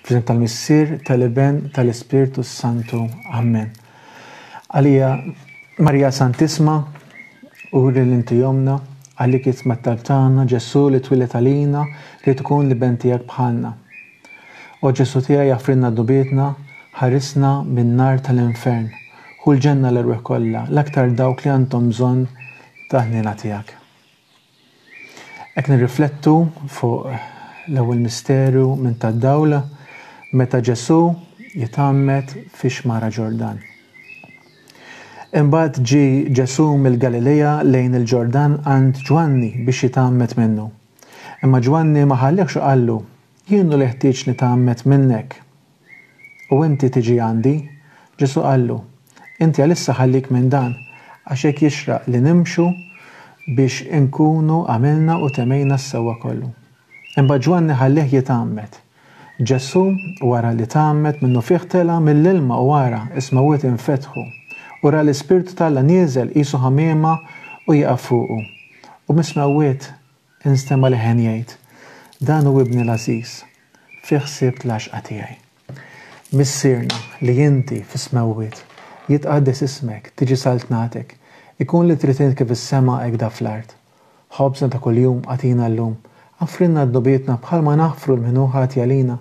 Fl-isem tal-Missier, tal-Iben, tal-Ispirtu s-Santu. Amen. Għalija Marija Santisma, uri li inti omna, għalik jisma' t-talb tagħna, Ġesù li twieled għalina, li tkun l-Iben tiegħek bħalna. O Ġesù tiegħi aħfrilna dnubietna, ħarisna min-nar tal-infern. Ħu l-ġenna l-erwieħ kollha, l-aktar dawk li għandhom bżonn tal-ħniena tiegħek. Hekk nirriflettu fuq l-ewwel misteru minn tad-dawl meta Ġesù jitgħammed fix-xmara Ġordan. Imbagħad ġie Ġesù mill-Galilea lejn il-Ġordan għand Ġwanni biex jitgħammed minnu. Imma Ġwanni ma ħallihx u qallu, Jien hu li ħtieġ nitgħammed minnek, u inti tiġi għandi? Ġesù qallu, Inti għalissa ħallik minn dan, għax hekk jixraq li nimxu biex inkunu għamilna u temmejna s-sewwa kollu. Imbagħad Ġwanni ħallieh jitgħammed. Ġesù, wara li tgħammed, minnufih tela' mill-ilma u ara, is-smewwiet infetħu, u ra l-Ispirtu t'Alla nieżel qisu ħamiema u jieqaf fuqu. U mis-smewwiet Instema' leħen jgħid, Dan hu Ibni l-għażiż, fih sibt l-għaxqa tiegħi. Missierna, li inti fis-smewwiet, jitqaddes ismek, tiġi saltnatek, ikun li trid int kif is-sema hekk da fl-art. Ħobżna ta' kuljum agħtina llum. Aħfrilna dnubietna bħalma naħfru 'l min hu ħati għalina,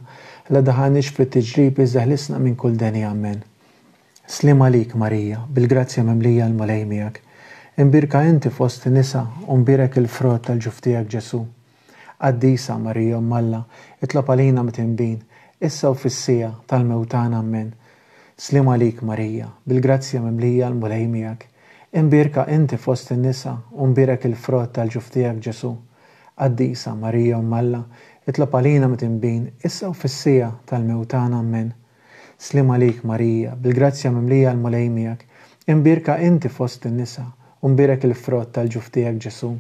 la daħalniex fit-tiġrib iżda ħlisna minn kull deni. Ammen. Sliem għalik, Marija, bil-grazzja mimlija l-Mulej miegħek. Imbierka inti fost in-nisa u mbierek il-frott tal-ġuf tiegħek Ġesù. Qaddisa, Marija Omm Alla, itlob għalina mitinbin, issa u fis-siegħa tal-mewt tagħna Ammen. Sliem għalik, Marija, bil-grazzja mimlija l-Mulej miegħek. Imbierka inti fost in-nisa u mbierek il-frott tal-ġuf tiegħek Ġesù. Qaddisa, Marija Omm Alla, itlob għalina mitinbin, issa u fis-siegħa tal-mewt tagħna Ammen. Sliem għalik, Marija, bil-grazzja mimlija l-Mulej miegħek. Imbierka inti fost in-nisa, u mbierek il-frott tal-ġuf tiegħek Ġesù.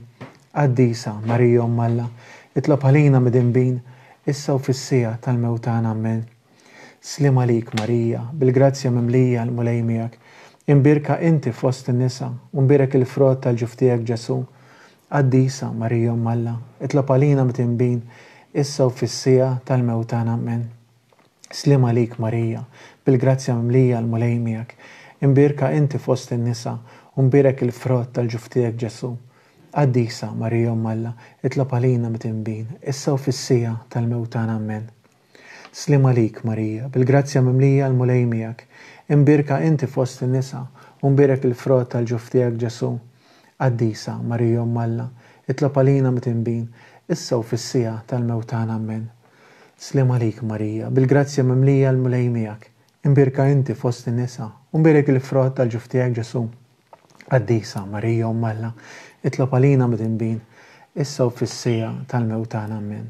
Qaddisa, Marija Omm Alla, itlob għalina midinbin, issa u fis-siegħa tal-mewt tagħna Ammen. Sliem għalik, Marija, bil-grazzja mimlija l-Mulej miegħek. Imbierka inti fost in-nisa, u mbierek il-frott tal-ġuf tiegħek Ġesù. Qaddisa, Marija Omm Alla, itlob għalina midinbin, issa u fis-siegħa tal-mewt tagħna Ammen. Sliem għalik, Marija, bil-grazzja mimlija l-Mulej miegħek. Imbierka inti fost in-nisa, u mbierek il-frott tal-ġuf tiegħek Ġesù. Qaddisa, Marija Omm Alla, itlob għalina mitinbin, issa u fis-siegħa tal-mewt tagħna Ammen. Sliem għalik, Marija, bil-grazzja mimlija l-Mulej miegħek. Imbierka inti fost in-nisa, u mbierek il-frott tal-ġuf tiegħek Ġesù. Qaddisa, Marija Omm Alla, itlob għalina mitinbin, issa u fis-siegħa tal-mewt tagħna Ammen. Sliem għalik, Marija, bil-grazzja mimlija l-Mulej miegħek. Imbierka inti fost in-nisa, u mbierek il-frott tal-ġuf tiegħek Ġesù. Qaddisa, Marija Omm Alla, itlob għalina midinbin, issa u fis-siegħa tal-mewt tagħna. Ammen.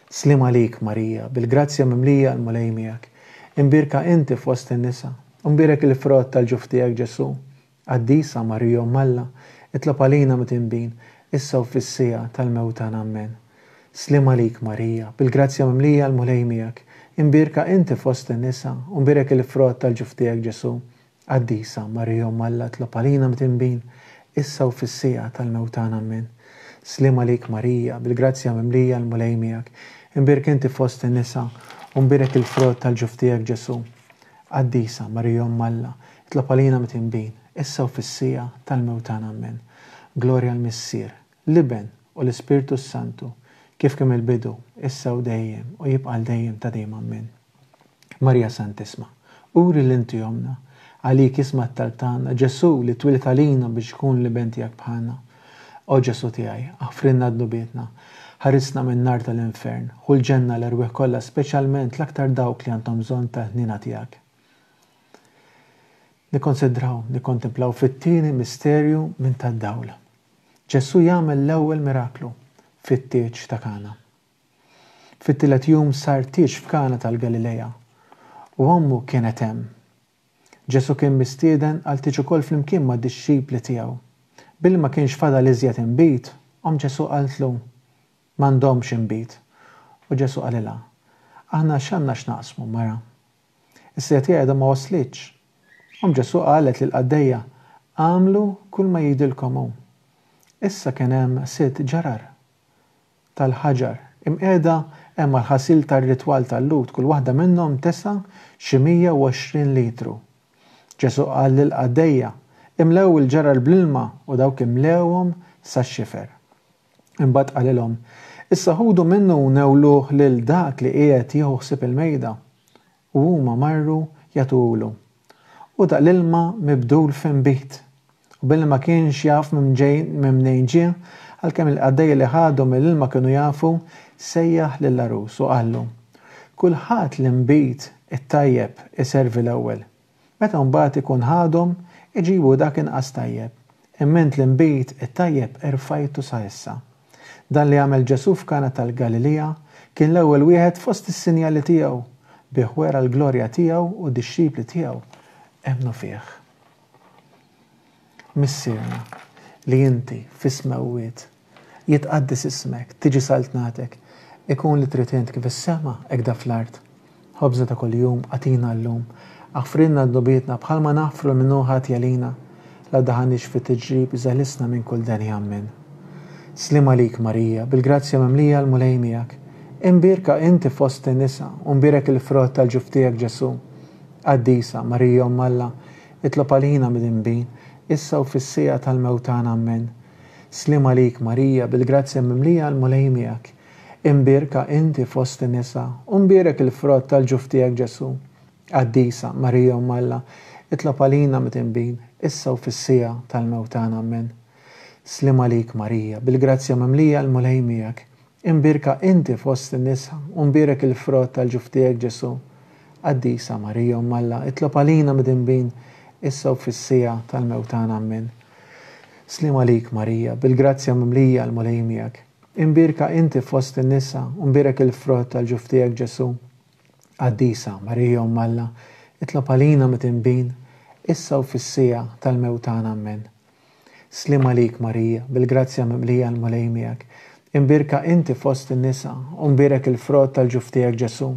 Sliem għalik, Marija, bil-grazzja mimlija l-Mulej miegħek. Imbierka inti fost in-nisa, u mbierek il-frott tal-ġuf tiegħek Ġesù. Qaddisa, Marija Omm Alla, itlob għalina midinbin, issa u fis-siegħa tal-mewt tagħna. Ammen. Sliem għalik, Marija, bil-grazzja mimlija l-Mulej miegħek. Imbierka inti fost in-nisa, u mbierek il-frott tal-ġuf tiegħek Ġesù. Qaddisa, Marija Omm Alla, itlob għalina midinbin, issa u fis-siegħa tal-mewt tagħna. Ammen. Sliem għalik, Marija, bil-grazzja mimlija l-Mulej miegħek. Imbierka inti fost in-nisa, u mbierek il-frott tal-ġuf tiegħek Ġesù. Qaddisa, Marija Omm Alla, itlob għalina mitinbin, issa u fis-siegħa tal-mewt tagħna. Ammen. Glorja l-Missier, l-Iben, u l-Ispirtu s-Santu, kif kien mill-bidu, issa u dejjem, u jibqa' għal dejjem ta' dejjem. Ammen. Marija Santisma, uri li inti Ommna, għalik isma' t-talb tagħna, Ġesù li twieled għalina biex ikun l-Iben tiegħek bħalna. O Ġesù tiegħi, aħfrilna dnubietna, ħarisna min-nar tal-infern, ħu l-ġenna l-erwieħ kollha speċjalment l-aktar dawk li għandhom bżonn tal-ħniena tiegħek. Nikkonsidraw, nikkontemplaw fit-tieni misterju minn tad-dawl. Ġesù jagħmel l-ewwel miraklu fit-tieġ ta' Kana. Fit-tielet jum sar tieġ f'Kana tal-Galilea u ommu kienet hemm. Ġesù kien mistieden għal tieġ ukoll flimkien mad-dixxipli tiegħu. Billi ma kienx fadal iżjed inbid, omm Ġesù qaltlu, M'għandhomx inbid. U Ġesù qalilha, Aħna x'għandna x'naqsmu, mara? Is-siegħa tiegħi għadha ma waslitx. Omm Ġesù qalet lill-qaddejja, Agħmlu kulma jgħidilkom hu. Issa kien hemm sitt ġarar tal-ħaġar imqiegħda hemm għall-ħasil tar-ritwal tal-Lhud, kull waħda minnhom tesa' xi 120 litru. Ġesù qal lill-qaddejja, Imlew il-ġarar bl-ilma u dawk imlewhom sax-xifer. Imbagħad qalilhom, Issa ħudu minnu u newluh lil dak li qiegħed jieħu ħsieb il-mejda. U huma marru jagħtuhulu. Hu daq l-ilma mibdul f'inbid. U billi ma kienx jaf minn mnejn ġie, għalkemm il-qaddejja li ħadu mill-ilma kienu jafu, sejjaħ lill-għarus u qallu, Kulħadd l-inbid it-tajjeb iservi l-ewwel. Meta mbagħad ikun ħadhom, iġibu dak inqas tajjeb. Imma int l-inbid it-tajjeb erfajtu sa issa. Dan li għamel Ġesù f'Kana tal-Galilija kien l-ewwel wieħed fost is-sinjali tiegħu, bih wera l-glorja tiegħu u d-dixxipli tiegħu emmnu fih. Missierna, li inti fis-smewwiet, jitqaddes ismek, tiġi saltnatek, ikun li trid int kif is-sema hekk da fl-art. Ħobżna ta' kuljum agħtina llum. Aħfrilna dnubietna bħalma naħfru 'l min hu ħati għalina. La ddaħħalniex fi tiġrib iżda ħlisna minn kull deni. Ammen. Sliem għalik Marija, bil-grazzja mimlija l-Mulej miegħek. Imbierka inti fost in-nisa u mbierek il-frott tal-ġuf tiegħek Ġesù. Qaddisa, Marija Omm Alla, itlob għalina midinbin, issa u fis-siegħa tal-mewt tagħna. Ammen. Sliem għalik Marija, bil-grazzja mimlija l-Mulej miegħek. Imbierka inti fost in-nisa, u mbierek il-frott tal-ġuf tiegħek Ġesù. Qaddisa, Marija Omm Alla, itlob għalina midinbin, issa u fis-siegħa tal-mewt tagħna. Ammen. Sliem għalik Marija, bil-grazzja mimlija l-Mulej miegħek. Imbierka inti fost in-nisa, u mbierek il-frott tal-ġuf tiegħek Ġesù. Qaddisa, Marija Omm Alla, itlob għalina midinbin, issa u fis-siegħa tal-mewt tagħna. Ammen. Sliem għalik Marija, bil-grazzja mimlija l-Mulej miegħek. Imbierka inti fost in-nisa, u mbierek il-frott tal-ġuf tiegħek Ġesù. Qaddisa, Marija Omm Alla, itlob għalina midinbin, issa u fis-siegħa tal-mewt tagħna. Ammen. Sliem għalik Marija, bil-grazzja mimlija l-Mulej miegħek. Imbierka inti fost in-nisa, u mbierek il-frott tal-ġuf tiegħek Ġesù.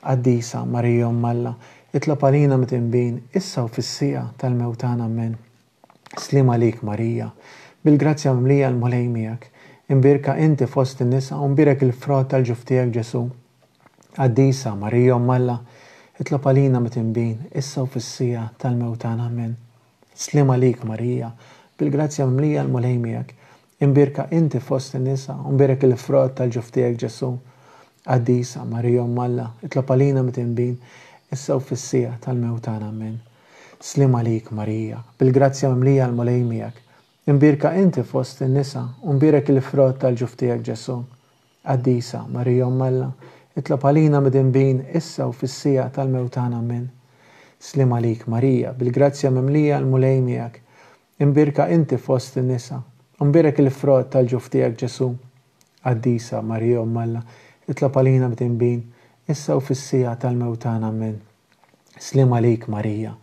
Qaddisa, Marija Omm Alla, itlob għalina midinbin, issa u fis-siegħa tal-mewt tagħna. Ammen. Sliem għalik Marija, bil-grazzja mimlija l-Mulej miegħek. Imbierka inti fost in-nisa u mbierek il-frott tal-ġuf tiegħek Ġesù. Qaddisa, Marija Omm Alla, itlob għalina mitinbin, issa u fis-siegħa tal-mewt tagħna. Ammen. Sliem għalik Marija, bil-grazzja mimlija l-Mulej miegħek. Imbierka inti fost in-nisa u mbierek il-frott tal-ġuf tiegħek Ġesù. Qaddisa, Marija Omm Alla, itlob għalina mitinbin, issa u fis-siegħa tal-mewt tagħna. Ammen. Sliem għalik, Marija, bil-grazzja mimlija l-Mulej miegħek. Imbierka inti fost in-nisa, u mbierek il-frott tal-ġuf tiegħek Ġesù. Qaddisa, Marija Omm Alla, itlob għalina midinbin, issa u fis-siegħa tal-mewt tagħna. Ammen. Sliem għalik, Marija, bil-grazzja mimlija l-Mulej miegħek. Imbierka inti fost in-nisa, u mbierek il-frott tal-ġuf tiegħek Ġesù. Qaddisa, Marija Omm Alla, itlob għalina midinbin, issa u fis-siegħa tal-mewt tagħna. Ammen. Sliem għalik Marija,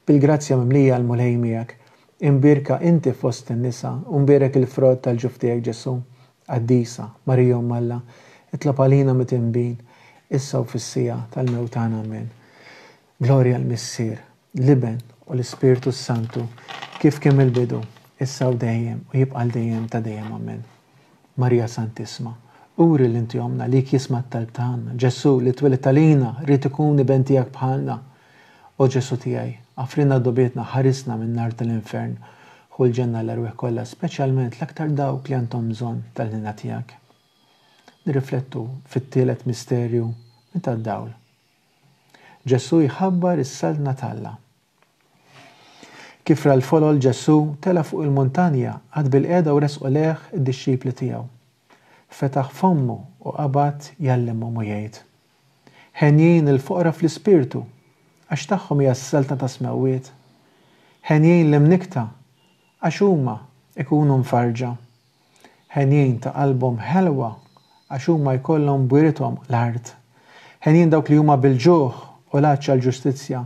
bil-grazzja mimlija l-Mulej miegħek. Imbierka inti fost in-nisa, u mbierek il-frott tal-ġuf tiegħek Ġesù. Qaddisa, Marija Omm Alla, itlob għalina mitinbin, issa u fis-siegħa tal-mewt tagħna. Ammen. Glorja l-Missier, l-Iben u l-Ispirtu s-Santu, kif kien mill-bidu, issa u dejjem, u jibqa' għal dejjem ta' dejjem. Ammen. Marija Santissma, uri li inti Ommna, lik jisma' t-talb tagħna. Ġesù, li twelidt għalina, ried ikun iben tiegħek bħalna. O Ġesù tiegħi, għafrilna dnubietna, ħarisna min-nar tal-infern. Ħu l-ġenna l-erwieħ kollha, speċjalment l-aktar dawk li għandhom bżonn tal-ħniena tiegħek. Nirriflettu fit-tielet misterju minn tad-dawl. Ġesù jħabbar is-Saltna t'Alla. Kif ra l-folol Ġesù tela' fuq il-muntanja, qagħad bilqiegħda u resqu lejh id-dixxipli tiegħu. Fetaħ fommu u qabad jgħallimhom u jgħid, Henjin il-foqra fl-ispirtu, għax tagħhom hija s-saltna tas-smewwiet. Henjin l-imnikkta, għax huma jkunu mfarrġa. Henjin ta' qalbhom ħelwa, għax huma jkollhom b'wirithom l-art. Henjin dawk li huma bil-ġuħ u l-għatx għall-ġustizzja,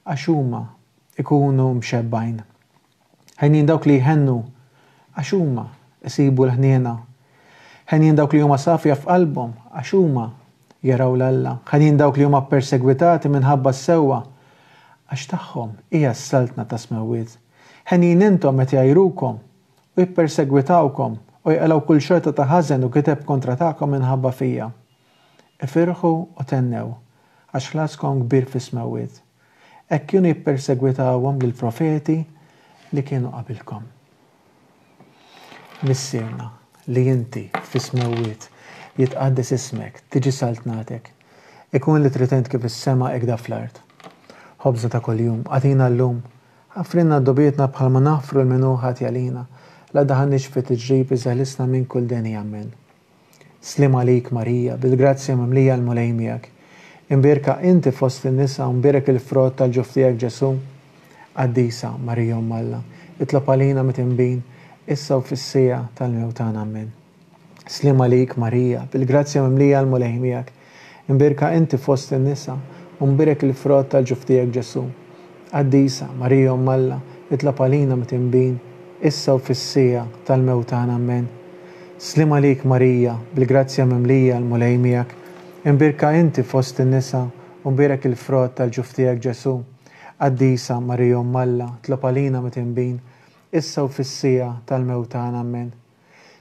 għax huma jkunu mxebbgħin. Henjin dawk li jħennu, għax huma jsibu l-ħniena. Henjin dawk li huma safja f'qalbhom, għax huma jaraw 'l Alla. Henjin dawk li huma ppersegwitati minħabba s-sewwa, għax tagħhom hija s-saltna tas-smewwiet. Henjin intom meta jgħajrukom u jippersegwitawkom. u jqalgħu kull xorta ta' ħażen u gideb kontra tagħkom minħabba fija. Ifirħu u thennew, għax ħlaskom kbir fis-smewwiet. Hekk kienu jippersegwitawhom lill-profeti li kienu qabilkom. Missierna, li inti fis-smewwiet, jitqaddes ismek, tiġi saltnatek. Ikun li trid int kif fis-sema hekk fl-art. Ħobżna ta' kuljum, agħtina llum. Aħfrilna dnubietna bħalma naħfru 'l min hu ħati għalina. La ddaħħalniex fi tiġrib iżda ħlisna minn kull deni. Ammen. Sliem għalik Marija, bil-grazzja mimlija l-Mulej miegħek. Imbierka inti fost in-nisa u mbierek il-frott tal-ġuf tiegħek Ġesù. Qaddisa Marija Omm Alla, itlob għalina mitinbin, issa u fis-siegħa tal-mewt tagħna. Ammen. Sliem għalik Marija, bil-grazzja mimlija l-Mulej miegħek. Imbierka inti fost in-nisa, u mbierek il-frott tal-ġuf tiegħek Ġesù. Qaddisa, Marija Omm Alla, itlob għalina mitinbin, issa u fis-siegħa tal-mewt tagħna. Ammen. Sliem għalik Marija, bil-grazzja mimlija l-Mulej miegħek. Imbierka inti fost in-nisa, u mbierek il-frott tal-ġuf tiegħek Ġesù. Qaddisa, Marija Omm Alla, tlob għalina mitinbin, issa u fis-siegħa tal-mewt tagħna. Ammen.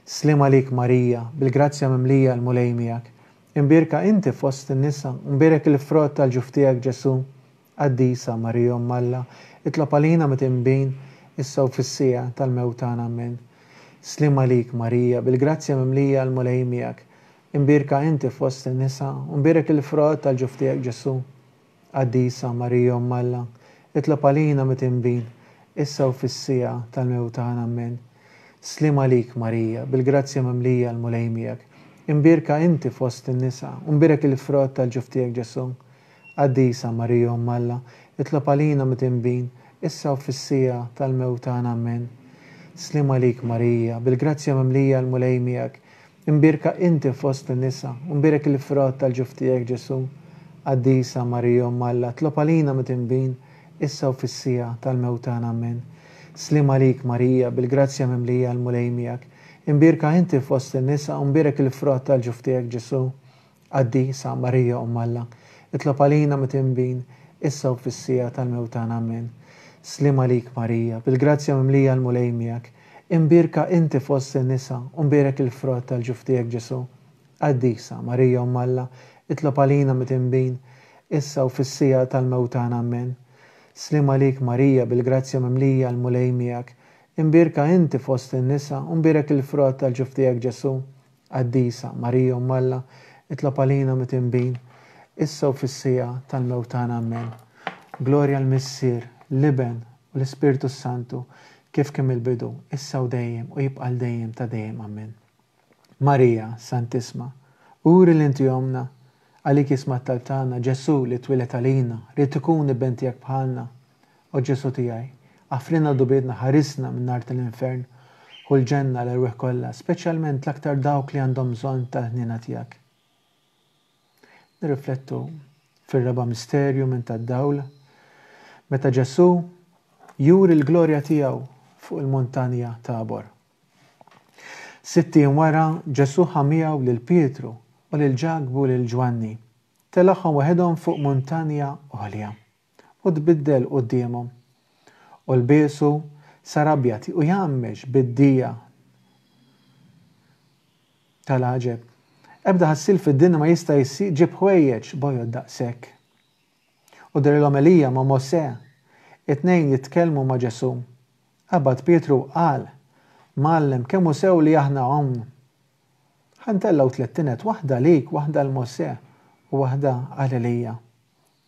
Sliem għalik Marija, bil-grazzja mimlija l-Mulej miegħek. Imbierka inti fost in-nisa, u mbierek il-frott tal-ġuf tiegħek Ġesù. Qaddisa, Marija Omm Alla, itlob għalina mitinbin, issa u fis-siegħa tal-mewt tagħna. Ammen. Sliem għalik, Marija, bil-grazzja mimlija l-Mulej miegħek. Imbierka inti fost in-nisa, u mbierek il-frott tal-ġuf tiegħek Ġesù. Qaddisa, Marija Omm Alla, itlob għalina mitinbin, issa u fis-siegħa tal-mewt tagħna. Ammen. Sliem għalik, Marija, bil-grazzja mimlija l-Mulej miegħek. Imbierka inti fost in-nisa, u mbierek il-frott tal-ġuf tiegħek Ġesù. Qaddisa Marija Omm Alla, itlob għalina midinbin, issa u fis-siegħa tal-mewt tagħna. Ammen. Sliem għalik Marija, bil-grazzja mimlija l-Mulej miegħek, imbierka inti fost in-nisa, u mbierek il-frott tal-ġuf tiegħek Ġesù. Qaddisa Marija Omm Alla, itlob għalina midinbin, issa u fis-siegħa tal-mewt tagħna. Ammen. Sliem għalik Marija, bil-grazzja mimlija l-Mulej miegħek, imbierka inti fost in-nisa, u mbierek il-frott tal-ġuf tiegħek Ġesù. Qaddisa, Marija Omm Alla, itlob għalina mitinbin, issa u fis-siegħa tal-mewt tagħna. Ammen. Sliem għalik Marija, bil-grazzja mimlija l-Mulej miegħek, imbierka inti fost in-nisa u mbierek il-frott tal-ġuf tiegħek Ġesù. Qaddisa, Marija Omm Alla, itlob għalina mitinbin, issa u fis-siegħa tal-mewt tagħna. Ammen. Sliem għalik Marija, bil-grazzja mimlija l-Mulej miegħek, imbierka inti fost in-nisa u mbierek il-frott tal-ġuf tiegħek Ġesù. Qaddisa, Marija Omm Alla, itlob għalina mitinbin, issa u fis-siegħa tal-mewt tagħna. Ammen. Glorja l-Missier, l-Iben, u l-Ispirtu s-Santu, kif kien mill-bidu, issa u dejjem, u jibqa' għal dejjem ta' dejjem. Ammen. Marija, Santisma, uri li inti ommna, għalik jisma' t-talb tagħna, Ġesù li twieled għalina, ried ikun iben tiegħek bħalna, O Ġesù tiegħi, aħfrilna dnubietna, ħarisna min-nar tal-infern, ħu l-ġenna l-erwieħ kollha, speċjalment l-aktar dawk li għandhom bżonn tal-ħniena tiegħek. Nirriflettu fir-raba' misterju minn tad-dawl, meta Ġesù juri l-glorja tiegħu fuq il-muntanja Tabor. Sitt ijiem wara, Ġesù ħa miegħu lil Pietru u lil Ġakbu u lil Ġwanni, telagħhom waħedhom fuq muntanja għolja. U tbiddel quddiemhom. U lbiesu sar abjad u jgħammex bid-dija tal-għaġeb. Ebda ħassiel fid-dinja ma jista' jġib ħwejjeġ bojod daqshekk. U dehrilhom Elija ma' Mosè, it-tnejn jitkellmu ma' Ġesù. Qabad Pietru u qal, Mgħallem, kemm hu sew li aħna hawn! Ħa ntellgħu tlett tined, waħda għalik, waħda għal Mosè u waħda għal Elija.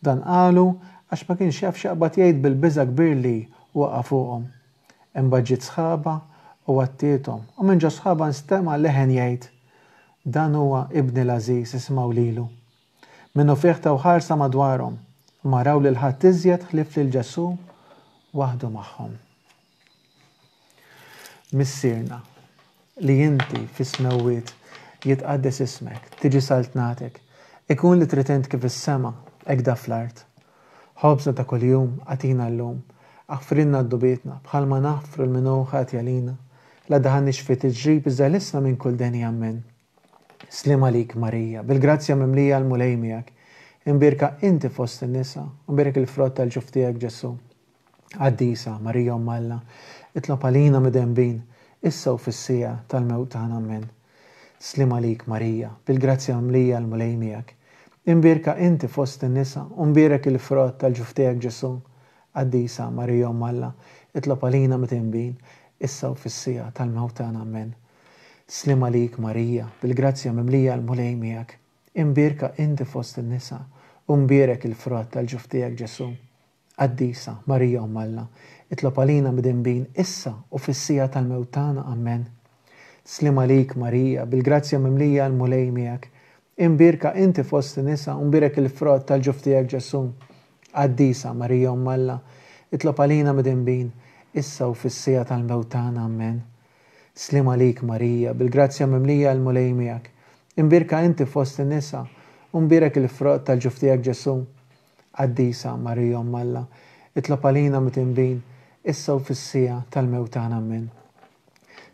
Dan qalu għax ma kienx jaf x'jaqbad jgħid bil-biża' kbir li waqa' fuqhom. Imbagħad ġiet sħaba u għattiethom, u minn ġos-sħaba nstema' leħen jgħid, Dan huwa Ibni l-għażiż, isimgħu lilu. Minnufih taw ħarsa madwarhom, u ma raw lil ħadd iżjed ħlief lil Ġesù waħdu magħhom. Missierna, li inti fis-smewwiet, jitqaddes ismek, tiġi saltnatek, ikun li trid int kif is-sema, hekk da fl-art. Ħobżna ta' kuljum agħtina llum. Aħfrilna dnubietna, bħalma naħfru 'l min hu ħati għalina. La daħalniex fi tiġrib iżda ħlisna minn kull deni. Ammen. Sliem għalik Marija, bil-grazzja mimlija l-Mulej miegħek. Imbierka inti fost in-nisa, u mbierek il-frott tal-ġuf tiegħek Ġesù. Qaddisa, Marija Omm Alla, itlob għalina midinbin, issa u fis-siegħa tal-mewt tagħna. Ammen. Sliem għalik, Marija, bil-grazzja mimlija l-Mulej miegħek. Imbierka inti fost in-nisa, u mbierek il-frott tal-ġuf tiegħek Ġesù. Qaddisa Marija Omm Alla, itlob għalina mitinbin, issa u fis-siegħa tal-mewt tagħna. Ammen. Sliem għalik, Marija, bil-grazzja mimlija l-Mulej miegħek. Imbierka inti fost in-nisa, u mbierek il-frott tal-ġuf tiegħek Ġesù. Qaddisa, Marija Omm Alla, itlob għalina midinbin issa u fis-siegħa tal-mewt tagħna. Ammen. Sliem għalik, Marija, bil-grazzja mimlija l-Mulej miegħek. Imbierka inti fost in-nisa u mbierek il-frott tal-ġuf tiegħek Ġesù. Qaddisa, Marija Omm Alla, itlob għalina midinbin issa u fis-siegħa tal-mewt tagħna. Ammen. Sliem għalik, Marija, bil-grazzja mimlija l-Mulej miegħek. Imbierka inti fost in-nisa u mbierek il-frott tal-ġuf tiegħek Ġesù. Qaddisa, Marija Omm Alla, itlob għalina mitinbin, issa u fis-siegħa tal-mewt tagħna. Ammen.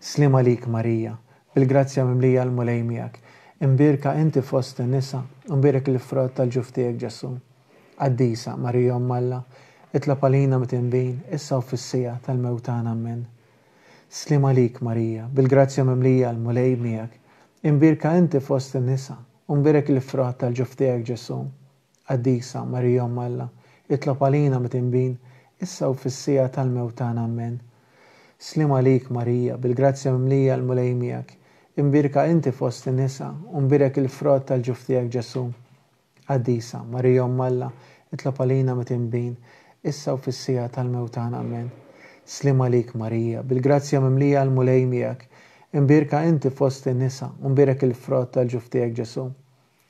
Sliem għalik, Marija, bil-grazzja mimlija l-Mulej miegħek. Imbierka inti fost in-nisa, u mbierek il-frott tal-ġuf tiegħek Ġesù. Qaddisa, Marija Omm Alla, itlob għalina mitinbin, issa u fis-siegħa tal-mewt tagħna. Ammen. Sliem għalik, Marija, bil-grazzja mimlija l-Mulej miegħek. Imbierka inti fost in-nisa, u mbierek il-frott tal-ġuf tiegħek Ġesù. Qaddisa, Marija Omm Alla, itlob għalina mitinbin, issa u fis-siegħa tal-mewt tagħna. Ammen. Sliem għalik, Marija, bil-grazzja mimlija l-Mulej miegħek. Imbierka inti fost in-nisa, u mbierek il-frott tal-ġuf tiegħek Ġesù. Qaddisa, Marija Omm Alla, itlob għalina mitinbin, issa u fis-siegħa tal-mewt tagħna. Ammen. Sliem għalik, Marija, bil-grazzja mimlija l-Mulej miegħek. Imbierka inti fost in-nisa, u mbierek il-frott tal-ġuf tiegħek Ġesù.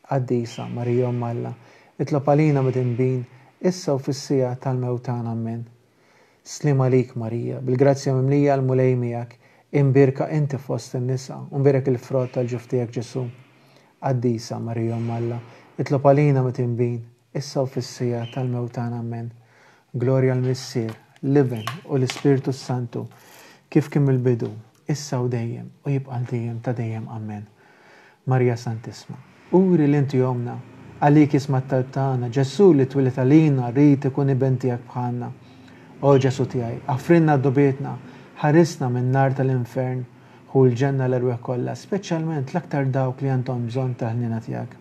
Qaddisa, Marija Omm Alla, itlob għalina midinbin, issa u fis-siegħa tal-mewt tagħna. Ammen. Sliem għalik, Marija, bil-grazzja mimlija l-Mulej miegħek, imbierka inti fost in-nisa, u mbierek il-frott tal-ġuf tiegħek Ġesù. Qaddisa, Marija Omm Alla, itlob għalina midinbin, issa u fis-siegħa tal-mewt tagħna. Ammen. Glorja l-Missier, l-Iben u l-Ispirtu s-Santu, kif kien mill-bidu, issa u dejjem, u jibqa' għal dejjem ta' dejjem. Ammen. Marija Santissma, uri li inti ommna, għalik jisma' t-talb tagħna, Ġesù li twieled għalina ried ikun iben tiegħek bħalna. O Ġesù tiegħi, aħfrilna dnubietna, ħarisna min-nar tal-infern, ħu l-ġenna l-erwieħ kollha, speċjalment l-aktar dawk li għandhom bżonn tal-ħniena tiegħek.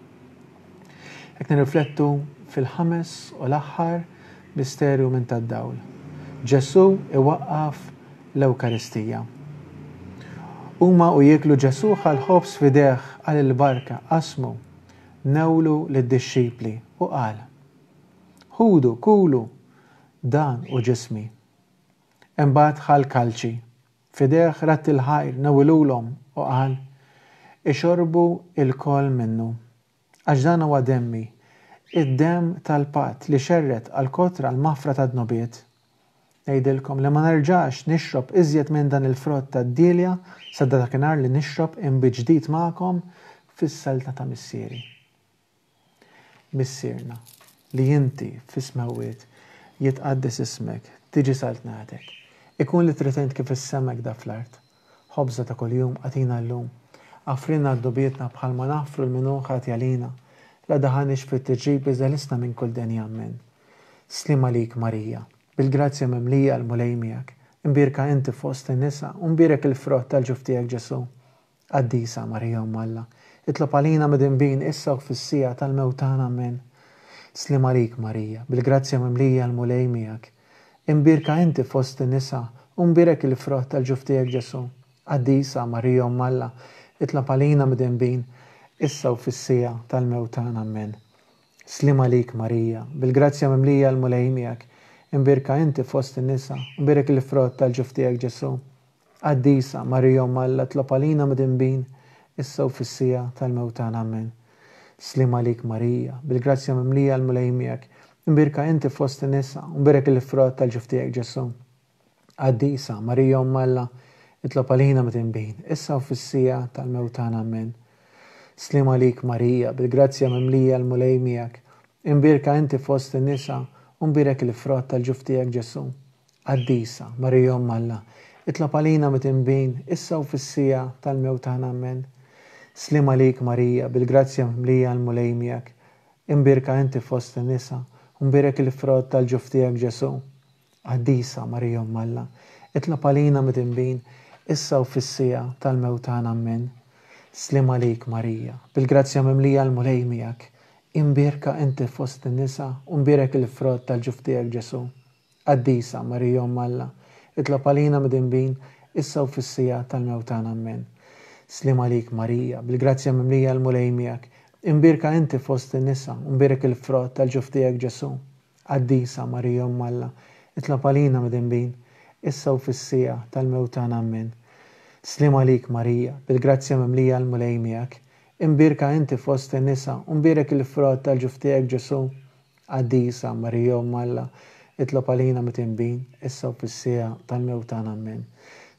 Hekk nirriflettu fil-ħames u l-aħħar misterju minn tad-dawl. Ġesù iwaqqaf l-Ewkaristija. Huma u jieklu Ġesù ħa l-ħobż f'idejh qal il-barka, qasmu, newlu lid-dixxipli u qal, Ħudu, kulu, dan hu ġismi. Imbagħad ħa l-kalċi, f'idejh radd il-ħajr, newilulhom u qal, Ixorbu lkoll minnu. Għax dan huwa demmi, id-demm tal-patt li xerred għall-kotra l-maħfra tad-dnubiet. Ngħidilkom li ma nerġax nixrob iżjed minn dan il-frott tad-dielja sa dakinhar li nixrob inbid ġdid magħkom fis-saltna ta' Missieri. Missierna, li inti fis-smewwiet, jitqaddes ismek, tiġi saltnatek. Ikun li trid int kif fis-sema hekk fl-art. Ħobża ta' kuljum agħtina llum. Aghfrilna dnubietna bħalma naħfru 'l min hu ħati għalina. La daħalniex fit-tiġrib iżda ħlisna minn kull deni. Ammen. Sliem għalik Marija, bil-grazzja mimlija l-Mulej miegħek. Imbierka inti fost in-nisa u mbierek il-frott tal-ġuf tiegħek Ġesù. Qaddisa Marija Omm Alla, itlob għalina midinbin issa u fis-siegħa tal-mewt tagħna. Ammen. Sliem għalik Marija, bil-grazzja mimlija l-Mulej miegħek. Imbierka inti fost in-nisa, u mbierek il-frott tal-ġuf tiegħek Ġesù. Qaddisa Marija Omm Alla, itlob għalina midinbin, issa u fis-siegħa tal-mewt tagħna. Ammen. Sliem għalik Marija, bil-grazzja mimlija l-Mulej miegħek. Imbierka inti fost in-nisa, u mbierek il-frott tal-ġuf tiegħek Ġesù. Qaddisa, Marija Omm Alla, itlob għalina midinbin, issa u fis-siegħa tal-mewt tagħna. Ammen. Sliem għalik Marija, bil-grazzja mimlija l-Mulej miegħek, imbierka inti fost in-nisa, u mbierek il-frott tal-ġuf tiegħek Ġesù. Qaddisa, Marija Omm Alla, itlob għalina midinbin, issa u fis-siegħa tal-mewt tagħna. Ammen. Sliem għalik Marija, bil-grazzja mimlija l-Mulej miegħek, imbierka inti fost in-nisa, u mbierek il-frott tal-ġuf tiegħek Ġesù. Qaddisa, Marija Omm Alla, itlob għalina mitinbin, issa u fis-siegħa tal-mewt tagħna. Ammen. Sliem għalik Marija, bil-grazzja mimlija l-Mulej miegħek. Imbierka inti fost in-nisa, u mbierek il-frott tal-ġuf tiegħek Ġesù. Qaddisa, Marija Omm Alla, itlob għalina mitinbin, issa u fis-siegħa tal-mewt tagħna. Ammen. Sliem għalik, Marija, bil-grazzja mimlija l-Mulej miegħek, imbierka inti fost in-nisa u mbierek il-frott tal-ġuf tiegħek Ġesù. Qaddisa, Marija Omm Alla, itlob għalina midinbin, issa u fis-siegħa tal-mewt tagħna. Ammen. Sliem għalik, Marija, bil-grazzja mimlija l-Mulej miegħek, imbierka inti fost in-nisa u mbierek il-frott tal-ġuf tiegħek Ġesù. Qaddisa, Marija Omm Alla, itlob għalina midinbin, issa u fis-siegħa tal-mewt tagħna. Ammen. Sliem għalik, Marija, bil-grazzja mimlija l-Mulej miegħek, imbierka inti fost in-nisa u mbierek il-frott tal-ġuf tiegħek Ġesù. Qaddisa, Marija Omm Alla, itlob għalina midinbin, issa u fis-siegħa tal-mewt tagħna. Ammen.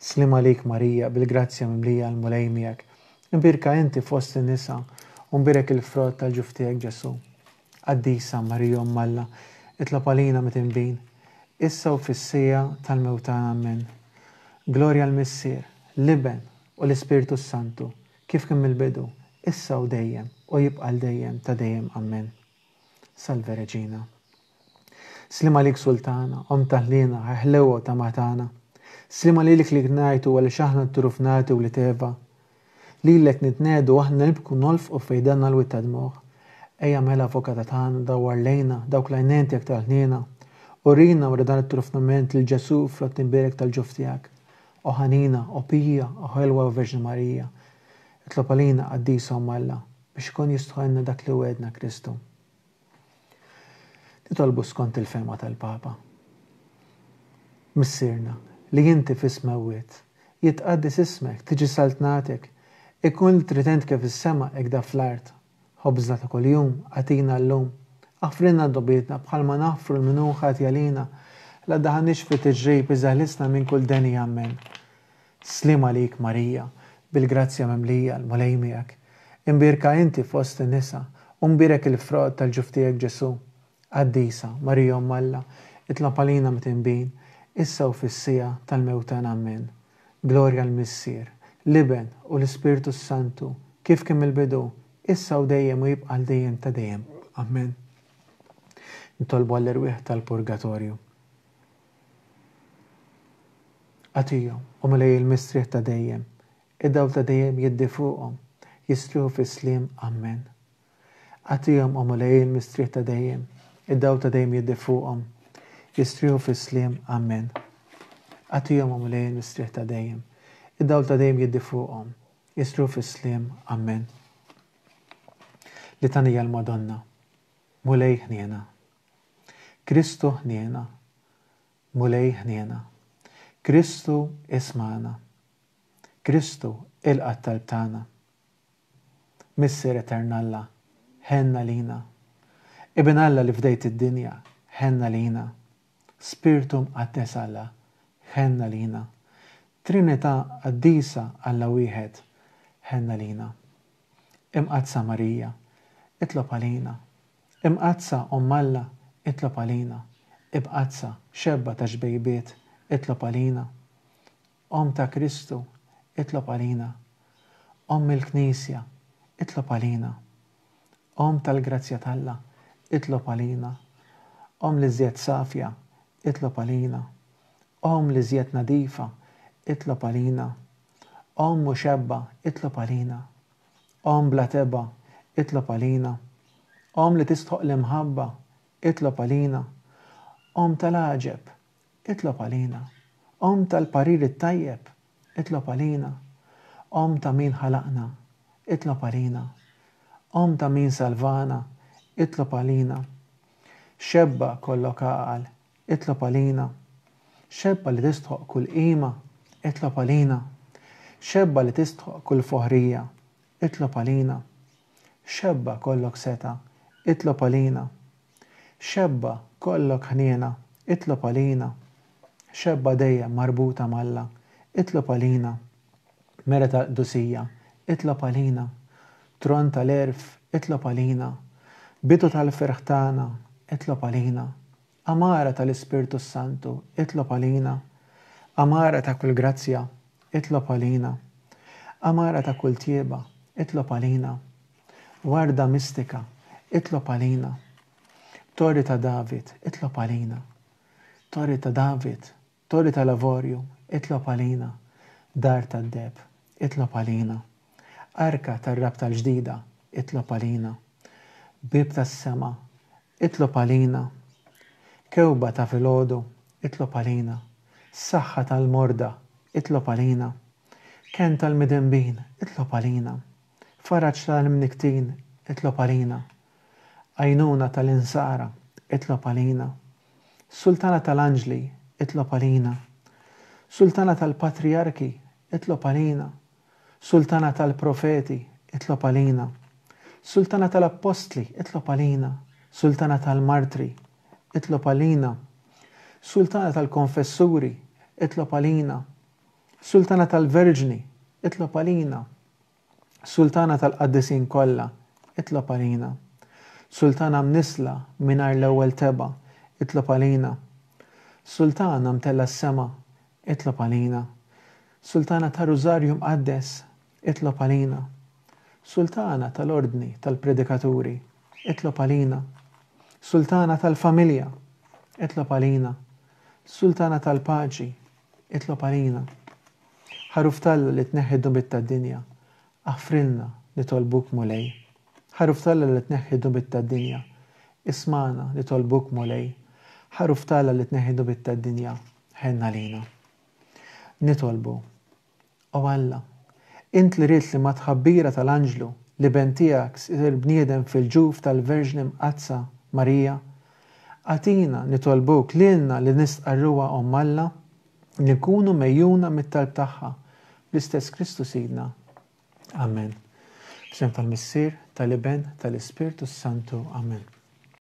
Sliem għalik, Marija, bil-grazzja mimlija l-Mulej miegħek, imbierka inti fost in-nisa u mbierek il-frott tal-ġuf tiegħek Ġesù. Qaddisa, Marija Omm Alla, itlob għalina midinbin, issa u fis-siegħa tal-mewt tagħna. Ammen. Glorja l-Missier, l-Iben, u l-Ispirtu s-Santu, kif kien mill-bidu, issa u dejjem, u jibqa' għal dejjem ta' dejjem. Ammen. Salve Regina. Sliem għalik Sultana, Omm ta' ħniena, ħlewwa u tama tagħna. Sliem għalilek li ngħajtu għaliex aħna t-turufnati wlied Eva. Lilek nitnegħdu aħna nibku nolfqu fejdanna l-wied ta' dmugħ. Ejja mela Avukata tagħna dawwar lejna dawk l-għajnejn tiegħek tal-ħniena. Urina wara dan it-turufnament lil Ġesù frott imbierek tal-ġuf tiegħek. O ħanina, o pija, o ħelwa Verġni Marija, itlob għalina Qaddisa Omm Alla, biex ikun jistħoqilna dak li wegħedna Kristu. Nitolbu skont il-fehma tal-Papa. Missierna, li inti fis-smewwiet, jitqaddes ismek, tiġi saltnatek, ikun li trid int kif fis-sema hekk da fl-art. Ħobżna ta' kuljum agħtina llum. Aħfrilna dnubietna bħalma naħfru 'l min hu ħati għalina. La ddaħħalniex fi tiġrib iżda ħlisna minn kull deni. Ammen. Sliem għalik Marija, bil-grazzja mimlija, l-Mulej miegħek. Imbierka inti fost in-nisa, u mbierek il-frott tal-ġuf tiegħek Ġesù. Qaddisa, Marija Omm Alla, itlob għalina mitinbin, issa u fis-siegħa tal-mewt tagħna. Ammen. Glorja l-Missier, l-Iben, u l-Ispirtu s-Santu, kif kien mill-bidu, issa u dejjem u jibqa' għal dejjem ta' dejjem. Ammen. Nitolbu għall-erwieħ tal-purgatorju. Agħtihom, o Mulej il-mistrieħ ta' dejjem, id-dawl ta' dejjem jiddi fuqhom, jistrieħu fis-sliem. Ammen. Agħtihom, o Mulej il-mistrieħ ta' dejjem, id-dawl ta' dejjem jiddi fuqhom, jistrieħu fis-sliem. Ammen. Agħtihom, o Mulej il-mistrieħ ta' dejjem, id-dawl ta' dejjem jiddi fuqhom, jistrieħu fis-sliem. Ammen. Litanija l-Madonna. Mulej ħniena. Kristu ħniena. Mulej ħniena. Kristu ismagħna. Kristu ilqa' t-talb tagħna. Missier Etern Alla, ħenn għalina. Ibn Alla li fdejt id-dinja, ħenn għalina. Spirtu Mqaddes Alla, ħenn għalina. Trinità Qaddisa Alla wieħed, ħenn għalina. Imqaddsa Marija, itlob għalina. Imqaddsa Omm Alla, itlob għalina. Imqaddsa, xebba ta' xbejbiet, itlob għalina. Omm ta' Kristu, itlob għalina. Omm il-Knisja, itlob għalina. Omm tal-grazzja t'Alla, itlob għalina. Omm l-iżjed safja, itlob għalina. Omm l-iżjed nadifa, itlob għalina. Omm u xebba, itlob għalina. Omm bla tebgħa, itlob għalina. Omm li tistħoqq l-imħabba, itlob għalina. Omm tal-għaġeb, itlob għalina. Omm tal-parir it-tajjeb, itlob għalina. Omm ta' min ħalaqna, itlob għalina. Omm ta' min salvana, itlob għalina. Xebba kollok għaqal, Itlob għalina. Xebba li tistħoqq kull qima, itlob għalina. Xebba li tistħoqq kull foħrija, itlob għalina. Xebba kollok setgħa, itlob għalina. Xebba kollok ħniena, itlob għalina. Xebba dejjem marbuta m'Alla, itlob għalina. Mera tal-qdusija, itlob għalina. Tron tal-għerf, itlob għalina. Bidu tal-ferħ tagħna, itlob għalina. Għamara tal-Ispirtu s-Santu, itlob għalina. Għamara ta' kull grazzja, itlob għalina. Għamara ta' kull tjieba, itlob għalina. Warda mistika, itlob għalina. Torri ta' David, itlob għalina. Torri ta' David, Torri tal-Avorju, itlob għalina. Dar tad-deheb, itlob għalina. Arka tar-Rabta l-Ġdida, itlob għalina. Bieb tas-sema, itlob għalina. Kewba ta' filgħodu, itlob għalina. Saħħa tal-morda, itlob għalina. Kenn tal-midinbin, itlob għalina. Faraġ tal-imnikktin, itlob għalina. Għajnuna tal-insara, itlob għalina. Sultana tal-anġli, itlob għalina. Sultana tal-patrijarki, itlob għalina. Sultana tal-profeti, itlob għalina. Sultana tal-appostli, itlob għalina. Sultana tal-martri, itlob għalina. Sultana tal-konfessuri, itlob għalina. Sultana tal-verġni, itlob għalina. Sultana tal-qaddisin kollha, itlob għalina. Sultana mnissla mingħajr l-ewwel tebgħa, itlob għalina. Sultana mtellgħa s-sema, itlob għalina. Sultana tar-Rużarju Mqaddes, itlob għalina. Sultana tal-Ordni tal-Predikaturi, itlob għalina. Sultana tal-Familja, itlob għalina. Sultana tal-Paċi, itlob għalina. Ħaruf t'Alla li tneħħi d-dnubiet tad-dinja, aħfrilna, nitolbuk Mulej. Ħaruf t'Alla li tneħħi d-dnubiet tad-dinja, ismagħna, nitolbuk Mulej. Ħaruf t'Alla li tneħħi d-dnubiet tad-dinja, ħenn għalina. Nitolbu. O Alla, int li ridt li mat-tħabbira tal-anġlu l-Iben tiegħek isir bniedem fil-ġuf tal-Verġni Mqaddsa Marija, agħtina, nitolbuk, lilna li nistqarruha Omm Alla, li nkunu megħjuna mit-talb tagħha, bl-istess Kristu Sidna. Amen. F'isem tal-Missier, tal-Iben, tal-Ispirtu s-Santu. Amen.